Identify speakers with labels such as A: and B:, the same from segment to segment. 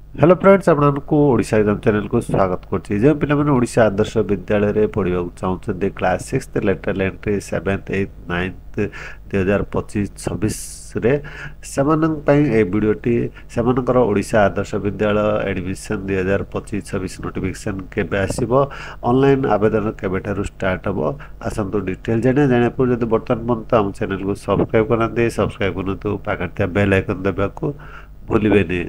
A: Hello friends, ଆପଣଙ୍କୁ Odisha exam ଚ୍ୟାନେଲକୁ ସ୍ୱାଗତ କରୁଛି। ଯେଉଁ ପିଲାମାନେ ଓଡ଼ିଶା ଆଦର୍ଶ ବିଦ୍ୟାଳୟରେ ପଢ଼ିବାକୁ ଚାହୁଁଛନ୍ତି, class six lateral entry, seventh, eighth, ninth 2025-26ରେ, ସେମାନଙ୍କ ପାଇଁ ଏ ଭିଡ଼ିଓଟି। ସେମାନଙ୍କର ଓଡ଼ିଶା ଆଦର୍ଶ ବିଦ୍ୟାଳୟ ଆଡ଼ମିସନ୍ 2025-26 ନୋଟିଫିକେସନ୍ କେବେ ଆସିବ, ଅନଲାଇନ୍ ଆବେଦନ କେବେଠାରୁ ଷ୍ଟାର୍ଟ ହେବ, ଆସନ୍ତୁ ଡିଟେଲ୍ ଜାଣିବା। ଜାଣିବା ପରେ ଯଦି ବର୍ତ୍ତମାନ ପର୍ଯ୍ୟନ୍ତ ଆମ ଚ୍ୟାନେଲକୁ ସବସ୍କ୍ରାଇବ୍ କରିନାହାନ୍ତି, ସବସ୍କ୍ରାଇବ୍ କରନ୍ତୁ, ପାଖରେ ଥିବା ବେଲ୍ ଆଇକନ୍ ଦେବାକୁ ଭୁଲିବେନି।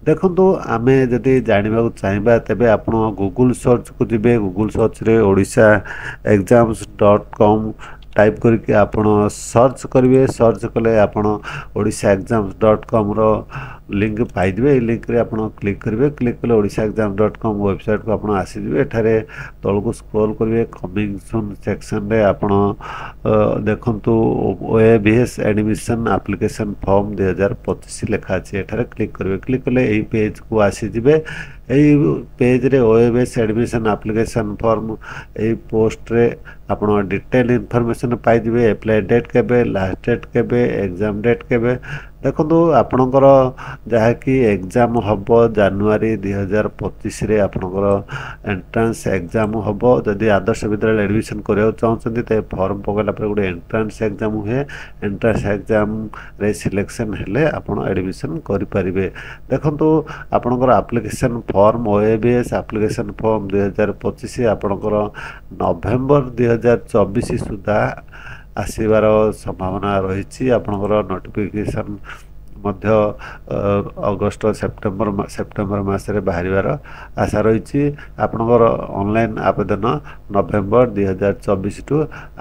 A: ଦେଖନ୍ତୁ, ଆମେ ଯଦି ଜାଣିବାକୁ ଚାହିଁବା, ତେବେ ଆପଣ ଗୁଗୁଲ୍ ସର୍ଚ୍ଚକୁ ଯିବେ। ଗୁଗୁଲ୍ ସର୍ଚ୍ଚରେ odishaexams.com type କରିକି ଆପଣ ସର୍ଚ୍ଚ କରିବେ। ସର୍ଚ୍ଚ କଲେ ଆପଣ ଓଡ଼ିଶା ଏକ୍ଜାମ୍ସ ଡଟ୍ କମ୍ର ଲିଙ୍କ୍ ପାଇଯିବେ। ଏଇ ଲିଙ୍କ୍ରେ ଆପଣ କ୍ଲିକ୍ କରିବେ। କ୍ଲିକ୍ କଲେ ଓଡ଼ିଶା ଏକ୍ଜାମ୍ ଡଟ୍ କମ୍ ୱେବସାଇଟ୍କୁ ଆପଣ ଆସିଯିବେ। ଏଠାରେ ତଳକୁ ସ୍କ୍ରୋଲ୍ କରିବେ। କମିଂ ସୁନ୍ ସେକ୍ସନରେ ଆପଣ ଦେଖନ୍ତୁ, OAVS admission application form 2025 ଲେଖା ଅଛି। ଏଠାରେ କ୍ଲିକ୍ କରିବେ। କ୍ଲିକ୍ କଲେ ଏଇ ପେଜ୍କୁ ଆସିଯିବେ। ଏଇ ପେଜ୍ରେ OAVS admission application form, ଏଇ ପୋଷ୍ଟରେ ଆପଣ ଡିଟେଲ୍ ଇନଫର୍ମେସନ୍ ପାଇଯିବେ। ଆପ୍ଲାଏ ଡେଟ୍ କେବେ, ଲାଷ୍ଟ ଡେଟ୍ କେବେ, ଏକ୍ଜାମ୍ ଡେଟ୍ କେବେ। ଦେଖନ୍ତୁ, ଆପଣଙ୍କର ଯାହାକି ଏକ୍ଜାମ୍ ହେବ, ଜାନୁଆରୀ 2025ରେ ଆପଣଙ୍କର ଏଣ୍ଟ୍ରାନ୍ସ ଏକ୍ଜାମ୍ ହେବ। ଯଦି ଆଦର୍ଶ ବିଦ୍ୟାଳୟରେ ଆଡ଼ମିସନ୍ କରିବାକୁ ଚାହୁଁଛନ୍ତି, ତେବେ ଫର୍ମ ପକାଇଲା ପରେ ଗୋଟେ ଏଣ୍ଟ୍ରାନ୍ସ ଏକ୍ଜାମ୍ ହୁଏ। ଏଣ୍ଟ୍ରାନ୍ସ ଏକ୍ଜାମ୍ରେ ସିଲେକ୍ସନ୍ ହେଲେ ଆପଣ ଆଡ଼ମିସନ୍ କରିପାରିବେ। ଦେଖନ୍ତୁ, ଆପଣଙ୍କର application form, OAVS application form 2025 ଆପଣଙ୍କର ନଭେମ୍ବର 2024 ସୁଦ୍ଧା ଆସିବାର ସମ୍ଭାବନା ରହିଛି। ଆପଣଙ୍କର ନୋଟିଫିକେସନ୍ ମଧ୍ୟ ଅଗଷ୍ଟ, ସେପ୍ଟେମ୍ବର ସେପ୍ଟେମ୍ବର ମାସରେ ବାହାରିବାର ଆଶା ରହିଛି। ଆପଣଙ୍କର ଅନଲାଇନ୍ ଆବେଦନ ନଭେମ୍ବର 2024ଠୁ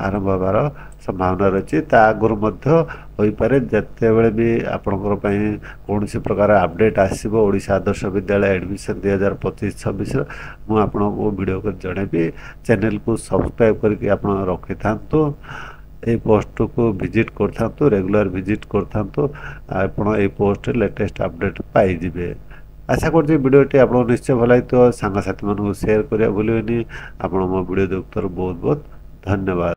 A: ଆରମ୍ଭ ହେବାର ସମ୍ଭାବନା ରହିଛି। ତା ଆଗରୁ ମଧ୍ୟ ହୋଇପାରେ। ଯେତେବେଳେ ବି ଆପଣଙ୍କର ପାଇଁ କୌଣସି ପ୍ରକାର ଅପଡ଼େଟ୍ ଆସିବ ଓଡ଼ିଶା ଆଦର୍ଶ ବିଦ୍ୟାଳୟ ଆଡ଼ମିସନ୍ 2025-26ର, ମୁଁ ଆପଣଙ୍କୁ ଭିଡ଼ିଓ କରି ଜଣାଇବି। ଚ୍ୟାନେଲକୁ ସବସ୍କ୍ରାଇବ୍ କରିକି ଆପଣ ରଖିଥାନ୍ତୁ। ଏଇ ପୋଷ୍ଟକୁ ଭିଜିଟ୍ କରିଥାନ୍ତୁ, ରେଗୁଲାର ଭିଜିଟ୍ କରିଥାନ୍ତୁ। ଆପଣ ଏଇ ପୋଷ୍ଟରେ ଲେଟେଷ୍ଟ ଅପଡ଼େଟ୍ ପାଇଯିବେ। ଆଶା କରୁଛି ଭିଡ଼ିଓଟି ଆପଣଙ୍କୁ ନିଶ୍ଚୟ ଭଲ ଲାଗିଥିବ। ସାଙ୍ଗସାଥିମାନଙ୍କୁ ସେୟାର କରିବା ଭୁଲିବେନି। ଆପଣ ମୋ ଭିଡ଼ିଓ ଦେଖୁଥିବାରୁ ବହୁତ ବହୁତ ଧନ୍ୟବାଦ।